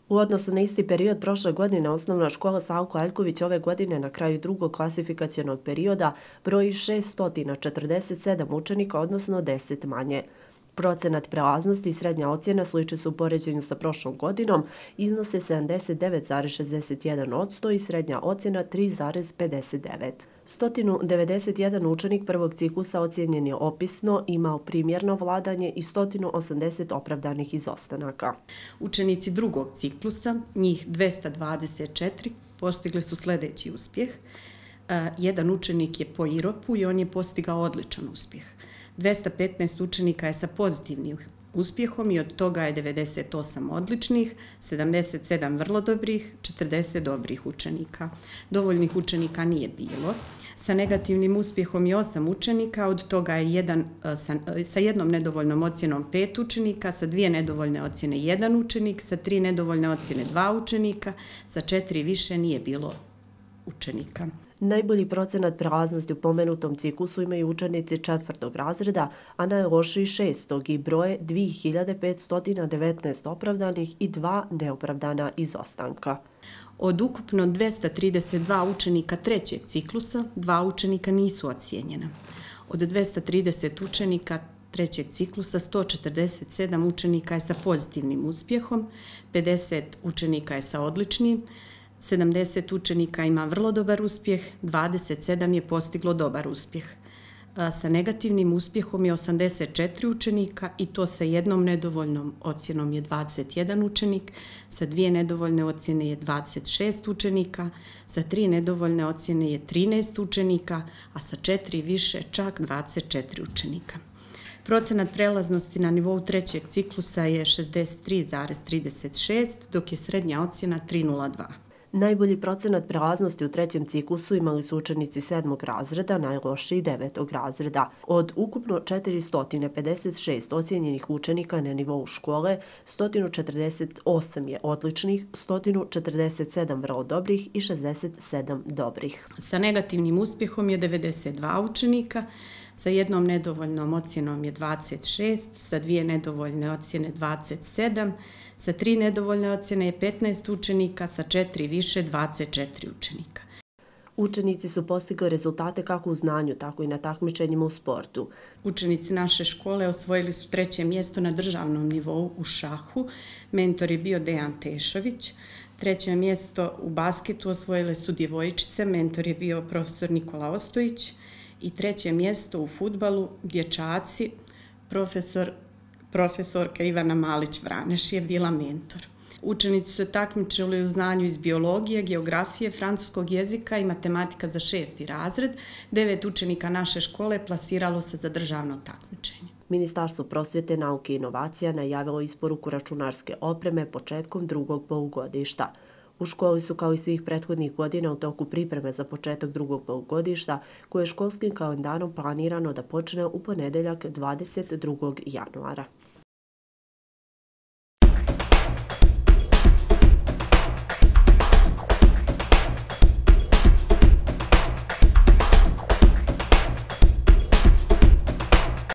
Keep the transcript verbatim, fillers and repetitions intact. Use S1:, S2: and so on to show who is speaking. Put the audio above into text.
S1: U odnosu na isti period prošle godine, osnovna škola Savko Aljković ove godine na kraju drugog klasifikacionog perioda broji šessto četrdeset sedam učenika, odnosno deset manje. Procenat prelaznosti i srednja ocjena sliče su u poređenju sa prošlom godinom, iznose sedamdeset devet zarez šezdeset jedan posto i srednja ocjena tri zarez pedeset devet. sto devedeset jedan učenik prvog ciklusa ocjenjen je opisno, imao primjerno vladanje i sto osamdeset opravdanih izostanaka.
S2: Učenici drugog ciklusa, njih dvesta dvadeset četiri, postigli su sljedeći uspjeh. Jedan učenik je po I R O P-u i on je postigao odličan uspjeh. dvesta petnaest učenika je sa pozitivnim uspjehom i od toga je devedeset osam odličnih, sedamdeset sedam vrlo dobrih, četrdeset dobrih učenika. Dovoljnih učenika nije bilo. Sa negativnim uspjehom je osam učenika, od toga je jedan, sa, sa jednom nedovoljnom ocjenom pet učenika, sa dvije nedovoljne ocjene jedan učenik, sa tri nedovoljne ocjene dva učenika, sa četiri više nije bilo učenika.
S1: Najbolji procenat prelaznosti u pomenutom ciklusu imaju učenici četvrtog razreda, a najlošiji šestog i broje dvije hiljade petsto devetnaest opravdanih i dva neopravdana izostanka.
S2: Od ukupno dvesta trideset dva učenika trećeg ciklusa, dva učenika nisu ocijenjena. Od dvesta trideset učenika trećeg ciklusa, sto četrdeset sedam učenika je sa pozitivnim uspjehom, pedeset učenika je sa odličnim, sedamdeset učenika ima vrlo dobar uspjeh, dvadeset sedam je postiglo dobar uspjeh. Sa negativnim uspjehom je osamdeset četiri učenika i to sa jednom nedovoljnom ocjenom je dvadeset jedan učenik, sa dvije nedovoljne ocjene je dvadeset šest učenika, sa tri nedovoljne ocjene je trinaest učenika, a sa četiri više čak dvadeset četiri učenika. Procenat prelaznosti na nivou trećeg ciklusa je šezdeset tri zarez trideset šest, dok je srednja ocjena tri zarez nula dva.
S1: Najbolji procenat prelaznosti u trećem ciklusu imali su učenici sedmog razreda, najlošiji devetog razreda. Od ukupno četiristo pedeset šest ocijenjenih učenika na nivou škole, sto četrdeset osam je odličnih, sto četrdeset sedam vrlo dobrih i šezdeset sedam dobrih.
S2: Sa negativnim uspjehom je devedeset dva učenika, sa jednom nedovoljnom ocjenom je dvadeset šest, sa dvije nedovoljne ocjene dvadeset sedam, sa tri nedovoljne ocjene je petnaest učenika, sa četiri više dvadeset četiri učenika.
S1: Učenici su postigli rezultate kako u znanju, tako i na takmičenjima u sportu.
S2: Učenici naše škole osvojili su treće mjesto na državnom nivou u šahu. Mentor je bio Dejan Tešović. Treće mjesto u basketu osvojile su djevojčice. Mentor je bio profesor Nikola Ostojić. I treće mjesto u fudbalu, dječaci, profesor, profesorka Ivana Malić-Vraneš je bila mentor. Učenici su takmičili u znanju iz biologije, geografije, francuskog jezika i matematika za šesti razred. Devet učenika naše škole plasiralo se za državno takmičenje.
S1: Ministarstvo prosvjete, nauke i inovacija najavilo isporuku računarske opreme početkom drugog polugodišta. U školi su kao i svih prethodnih godina u toku pripreme za početak drugog polugodišta, koje je školskim kalendarom planirano da počne u ponedeljak dvadeset drugog januara.